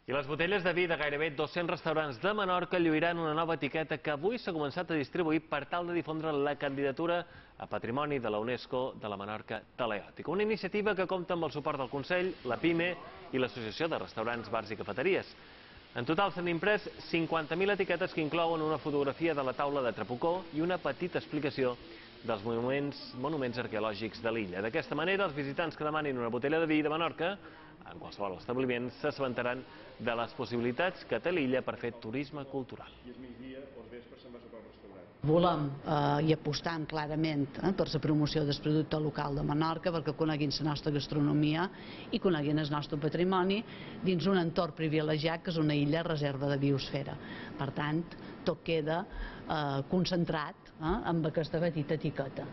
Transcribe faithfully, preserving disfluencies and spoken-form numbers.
I les botelles de vi de gairebé dos-cents restaurants de Menorca lluiran una nova etiqueta que avui s'ha començat a distribuir per tal de difondre la candidatura a Patrimoni de la UNESCO de la Menorca Teleòtica. Una iniciativa que compta amb el suport del Consell, la PIME i l'Associació de Restaurants, Bars i Cafeteries. En total s'han imprès cinquanta mil etiquetes que inclouen una fotografia de la taula de Trapucó i una petita explicació dels monuments, monuments arqueològics de l'illa. D'aquesta manera, els visitants que demanin una botella de vi de Menorca en qualsevol establiment s'assabentaran de les possibilitats que té l'illa per fer turisme cultural. Volem eh, i apostam clarament eh, per la promoció del producte local de Menorca perquè coneguin la nostra gastronomia i coneguin el nostre patrimoni dins un entorn privilegiat que és una illa reserva de biosfera. Per tant, tot queda eh, concentrat eh, amb aquesta petita etiqueta.